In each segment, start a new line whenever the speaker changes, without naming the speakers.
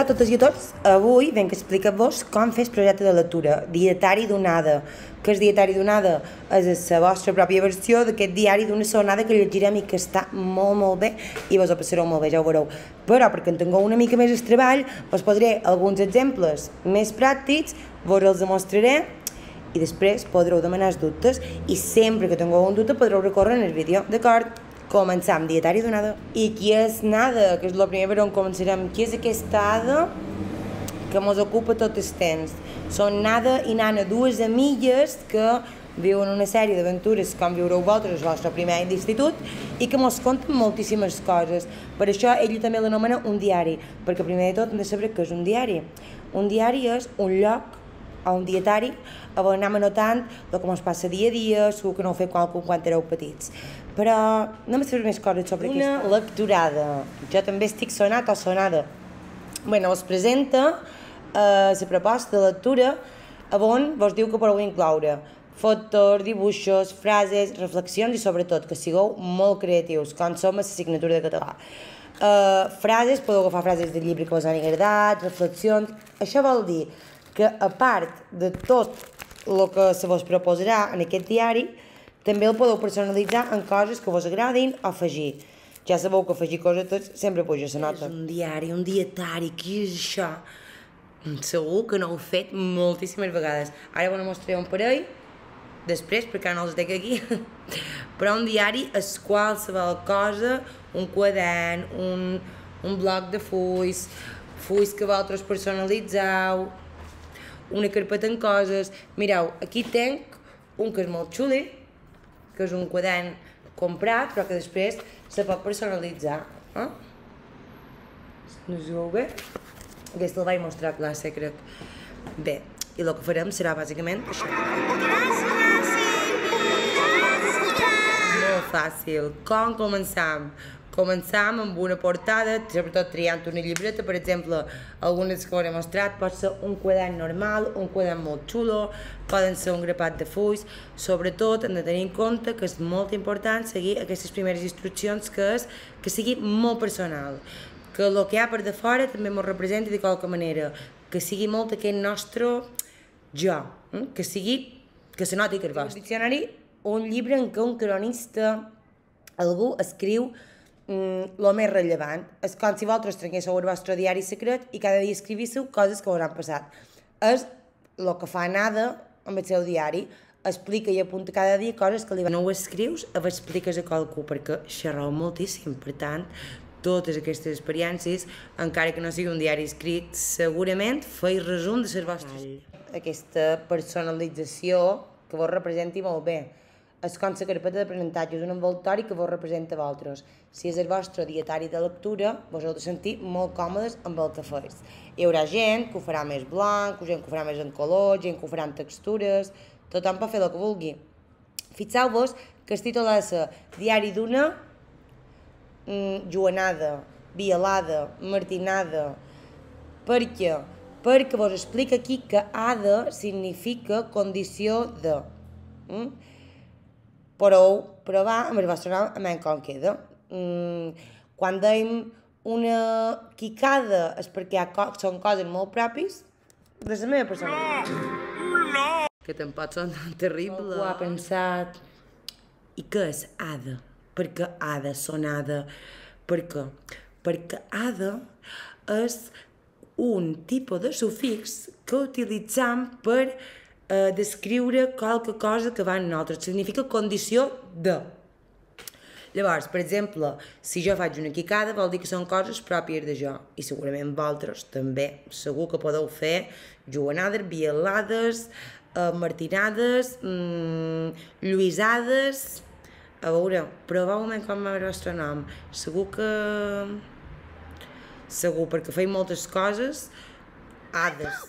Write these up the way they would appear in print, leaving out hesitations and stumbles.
tarda a totes i a tots. Avui venc a explicar-vos com fer el projecte de lectura, dietari d'onada. Que el dietari d'onada és la vostra pròpia versió d'aquest diari d'una sonada que llegirem i que està molt bé i vos ho passareu molt bé, ja ho veureu. Però perquè en tingueu una mica més el treball, vos posaré alguns exemples més pràctics, vos els demostraré i després podreu demanar els dubtes i sempre que tingueu un dubte podreu recórrer en el vídeo, d'acord? Començam, dietari d'onada. I qui és Nada, que és el primer per on començarem. Qui és aquesta Ada que mos ocupa tot el temps? Són Nada i Nana, dues amigues que viuen una sèrie d'aventures com viureu vosaltres el vostre primer any d'institut i que mos conten moltíssimes coses. Per això ell també l'anomena un diari, perquè primer de tot hem de saber què és un diari. Un diari és un lloc o un dietari on anem anotant el que ens passa dia a dia, segur que no ho feu quan éreu petits. Però anem a saber més coses sobre aquesta. Una lecturada. Jo també estic sonat o sonada. Bueno, us presenta la proposta de lectura on vos diu que podeu incloure fotos, dibuixos, frases, reflexions i sobretot que sigueu molt creatius, com som a l'assignatura de català. Frases, podeu agafar frases del llibre que us han agradat, reflexions. Això vol dir que a part de tot el que se vos proposarà en aquest diari, també el podeu personalitzar en coses que vos agradin o afegir. Ja sabeu que afegir coses sempre puja la nota. És un diari, un dietari, què és això? Segur que no ho he fet moltíssimes vegades. Ara vos mostraré un parell, després, perquè no els dec aquí. Però un diari és qualsevol cosa, un quadern, un bloc de fulls, fulls que vosaltres personalitzeu, una carpeta amb coses. Mireu, aquí tenc un que és molt xuli, que és un quadern comprat, però que després se pot personalitzar. No us veu bé? Aquesta el vaig mostrar a classe, crec. Bé, i el que farem serà bàsicament això. Molt fàcil. Com començam? Començam amb una portada, sobretot triant una llibreta, per exemple, algunes que us he mostrat, pot ser un quadern normal, un quadern molt xulo, poden ser un grapat de fulls, sobretot hem de tenir en compte que és molt important seguir aquestes primeres instruccions, que és que sigui molt personal, que el que hi ha per de fora també ens representi de qualque manera, que sigui molt aquest nostre jo, que se noti que és vostre. Un diccionari, un llibre en què un cronista, algú escriu el més rellevant. És com si vosaltres tinguéssiu el vostre diari secret i cada dia escrivíssiu coses que us han passat. És el que fa Nada amb el seu diari. Explica i apunta cada dia coses que li van. No ho escrius, ho expliques a qualcú, perquè xerreu moltíssim. Per tant, totes aquestes experiències, encara que no sigui un diari escrit, segurament feis resum de les vostres. Aquesta personalització que vos representi molt bé. És com la carpeta d'aprenentatge, és un envoltori que vos representa a vosaltres. Si és el vostre dietari de lectura, vos heu de sentir molt còmodes amb el que feis. Hi haurà gent que ho farà més blanc, gent que ho farà més en color, gent que ho farà en textures, tothom pot fer el que vulgui. Fixeu-vos que el títol és Diari d'una Joanada, Vialada, Martinada. Per què? Perquè vos explica aquí que Ada significa condició de. Podeu provar amb el vostre nom a com queda. Quan dèiem una quicada és perquè són coses molt pròpies de la meva personalitat. Que tampoc són tan terribles. Algú ha pensat, i què és Ada? Per què Ada són Ada? Per què? Perquè Ada és un tipus de sufix que utilitzam per descriure qualque cosa que va en nosaltres. Significa condició de. Llavors, per exemple, si jo faig una quicada vol dir que són coses pròpies de jo. I segurament vosaltres també. Segur que podeu fer joanades, vialades, martinades, lluïsades. A veure, proveu-me com va el vostre nom. Segur, perquè feim moltes coses. Ades.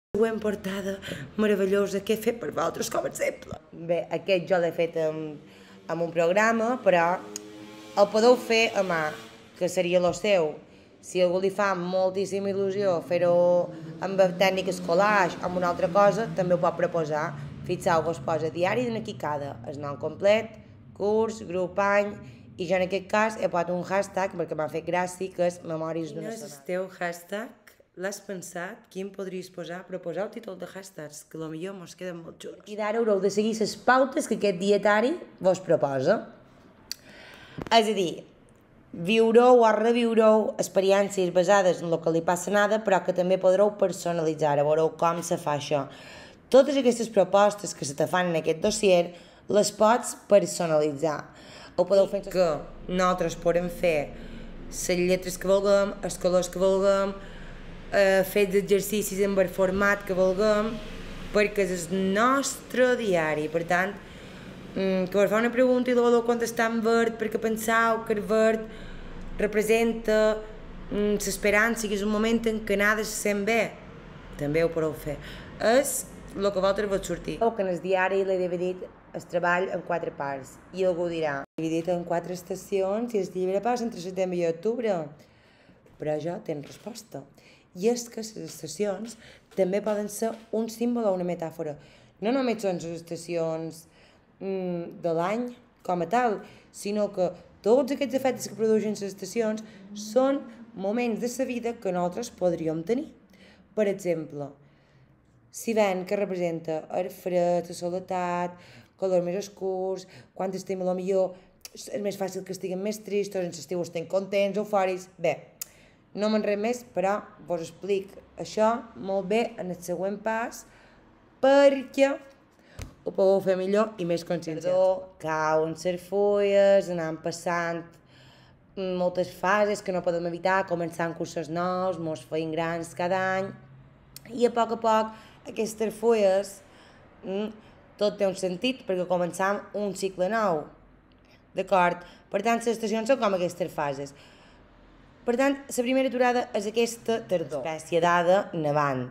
Següent portada meravellosa que he fet per vosaltres, com a exemple. Bé, aquest jo l'he fet amb un programa, però el podeu fer a mà, que seria el seu. Si algú li fa moltíssima il·lusió fer-ho amb tècniques collage o amb una altra cosa, també ho pot proposar. Fixeu-vos, posa diari d'una quicada, el nom complet, curs, grup, any I jo en aquest cas he posat un hashtag perquè m'ha fet gràcia, que és memòries d'una sonada. Quin és el teu hashtag? L'has pensat? Quin podries posar? Proposar el títol de hashtags, que potser mos queden molt junts. I d'ara haureu de seguir les pautes que aquest dietari vos proposa. És a dir, viureu o reviureu experiències basades en el que li passa nada, però que també podreu personalitzar, veureu com se fa això. Totes aquestes propostes que se te fan en aquest dossier les pots personalitzar. Ho podeu fer que nosaltres podem fer les lletres que vulguem, els colors que vulguem, fets exercicis en el format que vulguem, perquè és el nostre diari. Per tant, que vos fa una pregunta i la voleu contestar en verd perquè penseu que el verd representa l'esperança i que és un moment en què nada se sent bé, també ho podeu fer. És el que vosaltres vos sortir. Que en el diari l'he dividit el treball en 4 parts i algú dirà, dividit en 4 estacions i el llibre passa entre setembre i octubre, però jo tinc resposta, i és que les estacions també poden ser un símbol o una metàfora. No només són les estacions de l'any com a tal, sinó que tots aquests efectes que produeixen les estacions són moments de la vida que nosaltres podríem tenir. Per exemple, si ven que representa el fred, la soledat, colors més oscurs, quan estem a lo millor és més fàcil que estiguem més tristos, en l'estiu estem contents, eufòrics. Bé, no m'enrere més, però vos explic això molt bé en el següent pas perquè ho podeu fer millor i més conscienciats. Cauen les fulles, anant passant moltes fases que no podem evitar, començant cursos nous, mos feim grans cada any, i a poc aquestes fulles tot té un sentit perquè començam un cicle nou, d'acord? Per tant, les estacions són com aquestes fases. Per tant, la primera aturada és aquesta tardor, espècie d'ada nevant.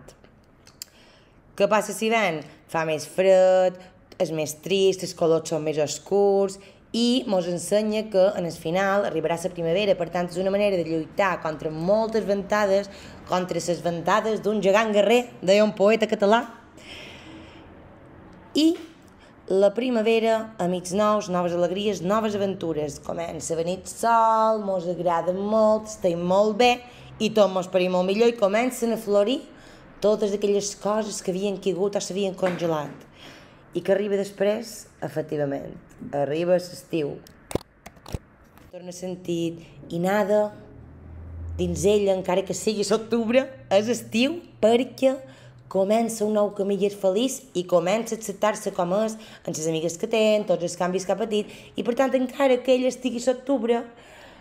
Què passa si ven? Fa més fred, és més trist, els colors són més oscurs i mos ensenya que en el final arribarà la primavera. Per tant, és una manera de lluitar contra moltes ventades, contra les ventades d'un gegant guerrer, deia un poeta català. I la primavera, amics nous, noves alegries, noves aventures. Comença a venir el sol, mos agrada molt, estem molt bé i tot mos parim molt millor i comencen a florir totes aquelles coses que havien caigut o s'havien congelat. I que arriba després, efectivament, arriba l'estiu. Torna a sentir i nada dins ella, encara que sigui l'octubre, és estiu perquè comença un nou camí i és feliç i comença a acceptar-se com és, amb les amigues que té, tots els canvis que ha patit, i per tant, encara que ella estigui a l'octubre,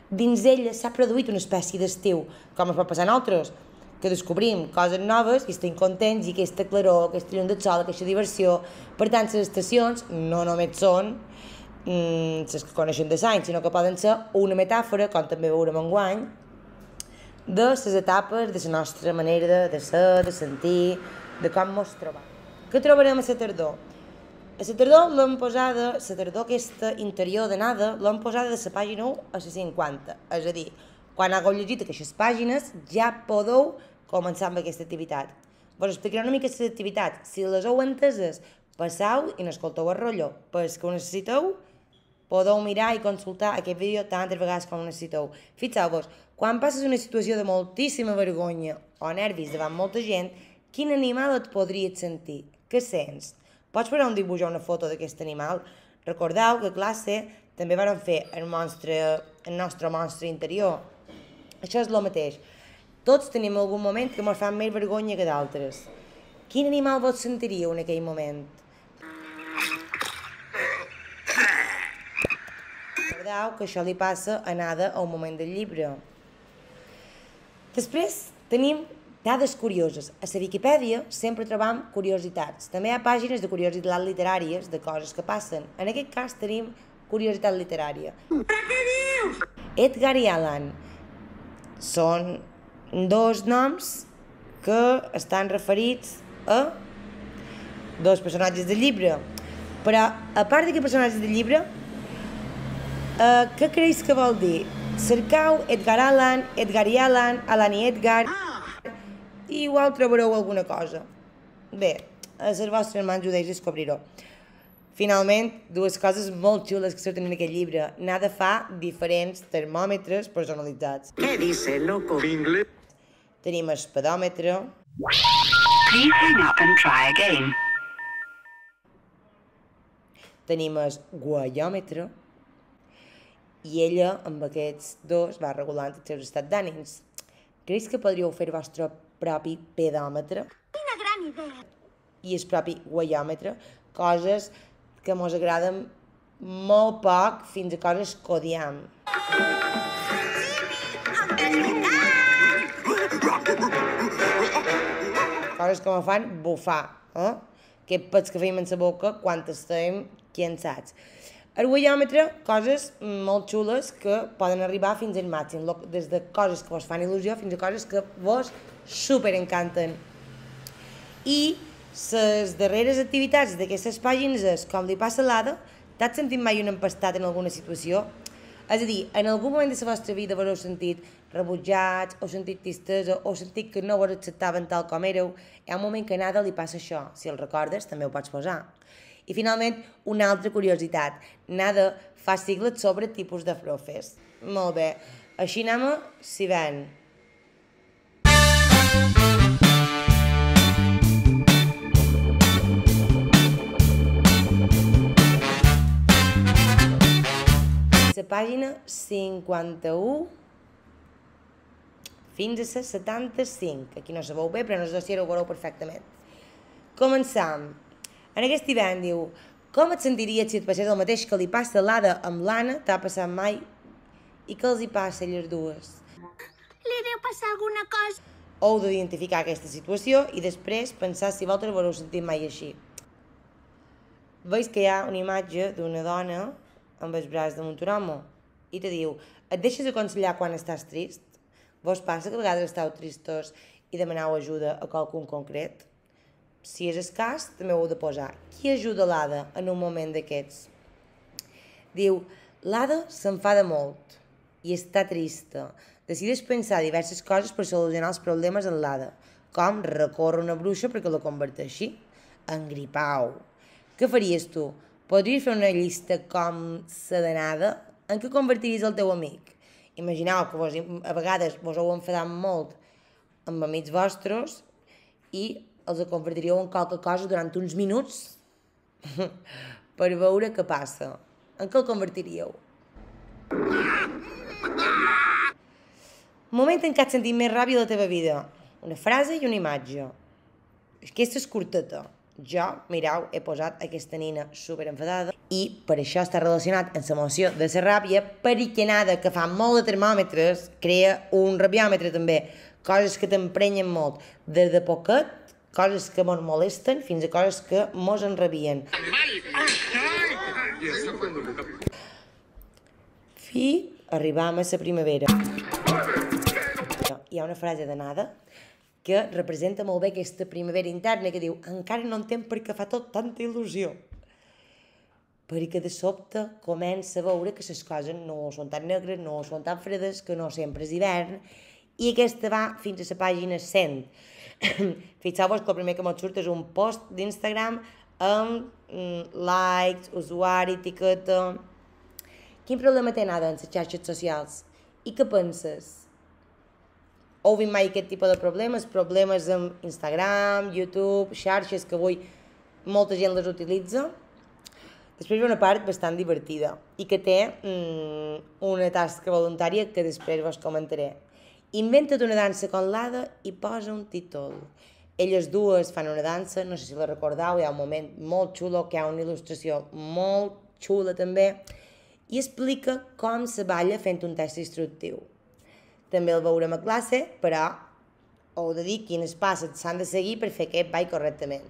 dins ella s'ha produït una espècie d'estiu, com es pot passar a nosaltres, que descobrim coses noves i estem contents i aquesta claror, aquesta llum del sol, aquesta diversió. Per tant, les estacions no només són les que coneixem de l'any, sinó que poden ser una metàfora, com també veurem enguany, de les etapes de la nostra manera de ser, de sentir, de com ens trobam. Què trobarem a la tardor? A la tardor l'hem posada, la tardor aquesta interior de nada, l'hem posada de la pàgina 1 a la 50. És a dir, quan hagueu llegit aquestes pàgines ja podeu començar amb aquesta activitat. Vos explicaré una mica aquesta activitat. Si les heu enteses, passeu i n'escolteu el rotllo. Per que ho necessiteu, podeu mirar i consultar aquest vídeo tantes vegades com ho necessiteu. Fixeu-vos, quan passes una situació de moltíssima vergonya o nervis davant molta gent, quin animal et podries sentir? Què sents? Pots posar un dibuix o una foto d'aquest animal? Recordeu que a classe també vam fer el nostre monstre interior. Això és el mateix. Tots tenim algun moment que ens fa més vergonya que d'altres. Quin animal vos sentiríeu en aquell moment? Recordeu que això li passa a nada a un moment del llibre. Després tenim dades curioses. A la Viquipèdia sempre trobam curiositats. També hi ha pàgines de curiositats literàries, de coses que passen. En aquest cas tenim curiositat literària. Però què dius? Edgar i Allan són dos noms que estan referits a dos personatges del llibre. Però, a part d'aquests personatges del llibre, què creus que vol dir? Cercau Edgar Allan, Edgar i Allan, Allan i Edgar, i igual trobareu alguna cosa. Bé, a les vostres mans ho deixo descobrir-ho. Finalment, dues coses molt xules que surten en aquest llibre. Nada fa diferents termòmetres personalitzats.
¿Qué dice, loco?
Tenim el pedòmetre.
Please hang up and try again.
Tenim el guaiòmetre. I ella, amb aquests dos, va regulant els seus estats d'ànims. Creus que podríeu fer el vostre propi pedòmetre?
Quina gran idea!
I el propi guaiòmetre, coses que mos agraden molt poc fins a coses que odiem. Coses que me fan bufar, Aquest pets que feim en la boca quan estem cansats. El guaiòmetre, coses molt xules que poden arribar fins al màxim, des de coses que vos fan il·lusió fins a coses que vos superencanten. I les darreres activitats d'aquestes pàgines és, com li passa a l'Ada, t'has sentit mai un empastat en alguna situació? És a dir, en algun moment de la vostra vida vos heu sentit rebutjats, o sentit tristesa, o sentit que no vos acceptaven tal com éreu. Hi ha un moment que a Nada li passa això. Si el recordes, també ho pots posar. I finalment, una altra curiositat. Nada fa sigles sobre tipus de profes. Molt bé. Així anem si ven. La pàgina 51 fins a la 75. Aquí no se veu bé, però en el dossier ho veureu perfectament. Començam. En aquest hivern diu: com et sentiries si et passés el mateix que li passa a l'Ada amb l'Anna? T'ha passat mai? I què els hi passa a elles dues?
Li deu passar alguna cosa.
Heu d'identificar aquesta situació i després pensar si vosaltres vos heu sentit mai així. Veus que hi ha una imatge d'una dona amb els braç damunt un home i te diu: et deixes aconsellar quan estàs trist? Vos passa que a vegades esteu tristos i demaneu ajuda a qualcun concret? Si és el cas, també ho heu de posar. Qui ajuda l'Ada en un moment d'aquests? Diu: l'Ada s'enfada molt i està trista. Decideix pensar diverses coses per solucionar els problemes en l'Ada, com recórrer una bruixa perquè la converteixi en gripau. Què faries tu? Podries fer una llista com la de Nada? En què convertiries el teu amic? Imagineu que a vegades vos heu enfadat molt amb amics vostres i els convertiríeu en qualque cosa durant uns minuts per veure què passa. En què el convertiríeu? Moment en què has sentit més ràbia a la teva vida. Una frase i una imatge. Aquesta és curteta. Jo, mireu, he posat aquesta nina superenfadada i per això està relacionat amb l'emoció de la ràbia, perquè Nada, que fa molt de termòmetres, crea un rabiòmetre també. Coses que t'emprenyen molt. Des de poquet, coses que mos molesten, fins a coses que mos enrabien. Fi, arribam a la primavera. Hi ha una frase de Nada que representa molt bé aquesta primavera interna que diu: encara no entenc per què fa tot tanta il·lusió. Perquè de sobte comença a veure que les coses no són tan negres, no són tan fredes, que no sempre és hivern, i aquesta va fins a la pàgina 100. Fixeu-vos que el primer que m'ho surt és un post d'Instagram amb likes, usuari, etiqueta. Quin problema té Nada en les xarxes socials? I què penses? Heu vist mai aquest tipus de problemes? Problemes amb Instagram, YouTube, xarxes que avui molta gent les utilitza? Després hi ha una part bastant divertida i que té una tasca voluntària que després vos comentaré. Inventa't una dansa con l'Ada i posa un títol. Elles dues fan una dansa, no sé si la recordeu, hi ha un moment molt xulo, que hi ha una il·lustració molt xula també, i explica com se balla fent un test instructiu. També el veurem a classe, però heu de dir quines passes s'han de seguir per fer aquest ball correctament.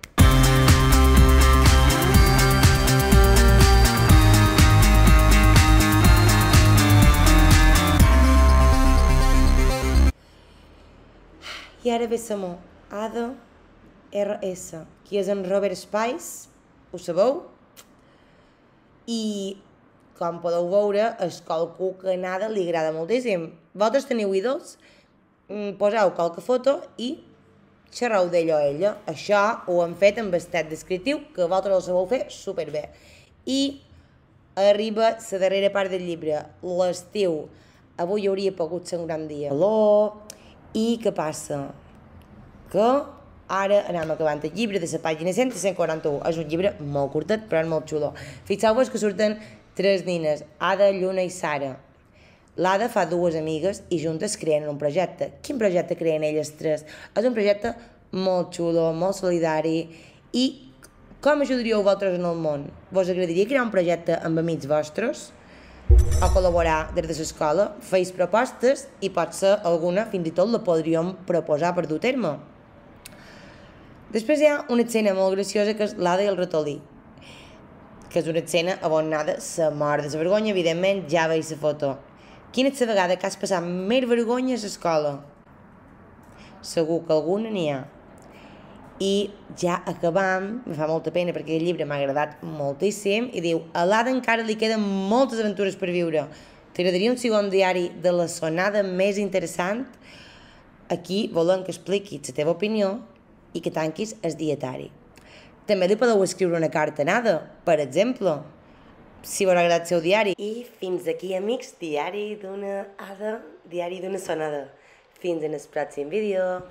I ara ve l'amor. Ada RS, qui és en Robert Spice, ho sabeu? I, com podeu veure, és qualcú que a Nada li agrada moltíssim. Vosaltres teniu ídols? Poseu qualque foto i xerreu d'ell o ella. Això ho hem fet amb estat descriptiu, que vosaltres el sabeu fer superbé. I arriba la darrera part del llibre, l'estiu. Avui hauria pogut ser un gran dia. Calor. I què passa? Que ara anem acabant el llibre de la pàgina 100 a 141. És un llibre molt curtet, però és molt xulo. Fixeu-vos que surten 3 nines, Ada, Lluna i Sara. L'Ada fa 2 amigues i juntes creen un projecte. Quin projecte creen elles 3? És un projecte molt xulo, molt solidari. I com ajudaríeu vosaltres en el món? Vos agradaria crear un projecte amb amics vostres? O col·laborar des de l'escola? Feis propostes i potser alguna fins i tot la podríem proposar per dur a terme. Després hi ha una escena molt graciosa que és l'Ada i el ratolí, que és una escena on Ada se mor de la vergonya, evidentment ja veig la foto. Quina és la vegada que has passat més vergonya a l'escola? Segur que alguna n'hi ha. I ja acabam, em fa molta pena perquè el llibre m'ha agradat moltíssim, i diu, a l'Ada encara li queden moltes aventures per viure. T'agradaria un segon diari de la sonada més interessant? Aquí volem que expliquis la teva opinió i que tanquis el dietari. També li podeu escriure una carta a Ada, per exemple, si us ha agradat el seu diari. I fins aquí, amics, diari d'una Ada, diari d'una sonada. Fins en el pròxim vídeo.